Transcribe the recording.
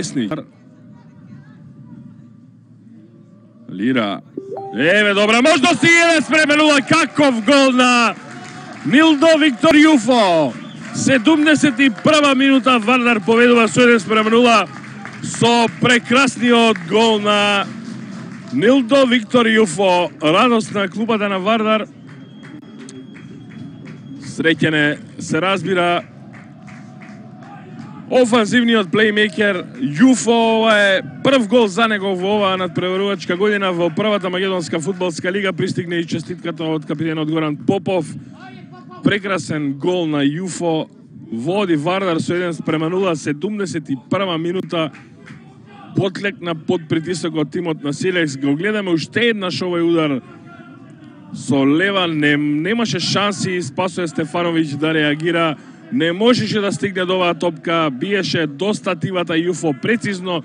Десни. Лира. Еве добра можност и еве спременува каков гол на Милдо Виктор Јуфо. 71 минута Вардар победува со 1-0 со прекрасниот гол на Милдо Виктор Јуфо. Радост на клубата на Вардар. Среќен се разбира офанзивниот плеймейкер Јуфо. Ова е прв гол за него во оваа надпреварувачка година во првата македонска фудбалска лига. Пристигне и честитката од капитенот Горан Попов. Прекрасен гол на Јуфо. Води Вардар со 1-0, 71 минута. Потлекна под притисокот тимот на Силекс. Го гледаме уште еднаш овој удар со лева. Немаше шанси Спасоје Стефановиќ да реагира. Не можеше да стигне до оваа топка. Биеше до стативата Јуфо прецизно.